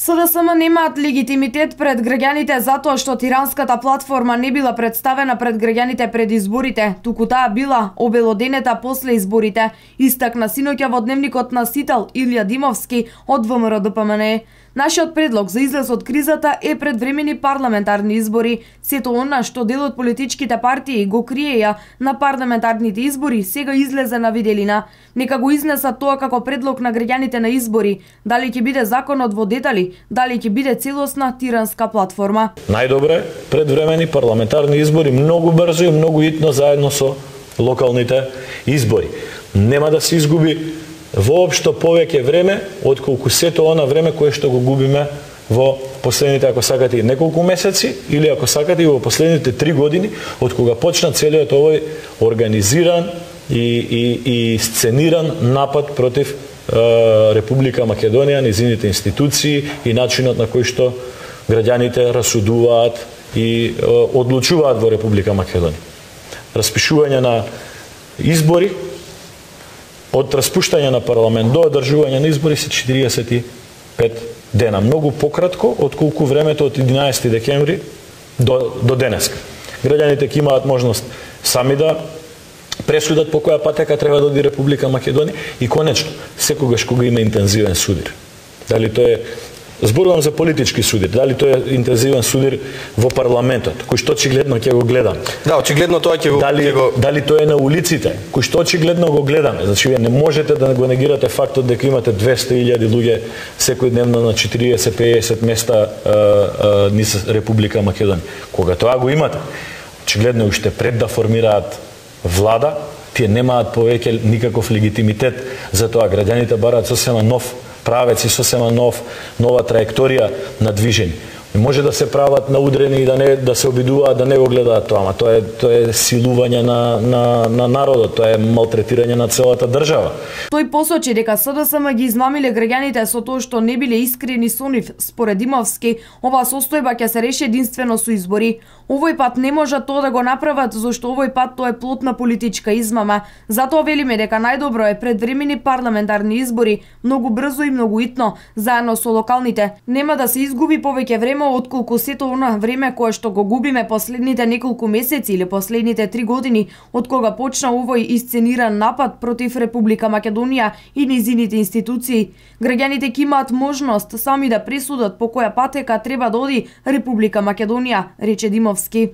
СДСМ немаат легитимитет пред граѓаните затоа што тиранската платформа не била представена пред граѓаните пред изборите, туку таа била обелоденета после изборите, истакна синоќа во дневникот на Сител Илија Димовски од ВМРО-ДПМНЕ. Нашиот предлог за излез од кризата е предвремени парламентарни избори. Сето она што дел од политичките партии го криеја на парламентарните избори сега излезе на виделина. Нека го изнесат тоа како предлог на граѓаните на избори. Дали ќе биде законот во детали, дали ќе биде целосна тиранска платформа. Најдобро е предвремени парламентарни избори многу брзо и многу итно заедно со локалните избори. Нема да се изгуби воопшто повеќе време отколку сето она време кое што го губиме во последните, ако сакате, неколку месеци или ако сакате во последните 3 години од кога почна целиот овој организиран и сцениран напад против Република Македонија, низините институции и начинот на кој што граѓаните расудуваат и одлучуваат во Република Македонија. Распишување на избори, од распуштање на парламент до одржување на избори се 45 дена. Многу пократко отколку времето од 11 декември до денеска. Граѓаните ќе имаат можност сами да пресудат по која патека треба да оди Република Македонија и конечно, секогаш кога има интензивен судир. Дали тоа е, зборувам за политички судир, дали тоа е интензивен судир во парламентот, кој што очигледно ќе го гледам. Да, очигледно тоа ќе го Дали тоа е на улиците, кој што очигледно го гледаме. Значи вие не можете да го негирате фактот дека имате 200.000 луѓе секојдневно на 40-50 места низ Република Македонија. Кога тоа го имате, очигледно уште пред да формираат влада, тие немаат повеќе никаков легитимитет за тоа. Граѓаните бараат сосема нов правец и сосема нова траекторија на движење. Не може да се прават наудрени и да се обидуваат да не го гледаат тоа, ама тоа е силување на народот, тоа е малтретирање на целата држава. Тој посочи дека СДСМ ги измамиле граѓаните со тоа што не биле искрени со нив. Според Димовски, оваа состојба ќе се реши единствено со избори. Овој пат не можат тоа да го направат, зашто овој пат тоа е плод на политичка измама. Затоа велиме дека најдобро е предвремени парламентарни избори, многу брзо и многу итно, заедно со локалните. Нема да се изгуби повеќе време отколку сето она време кое што го губиме последните неколку месеци или последните 3 години од кога почна овој исцениран напад против Република Македонија и низините институции. Граѓаните ќе имаат можност сами да пресудат по која патека треба да оди Република Македонија, рече Димовски.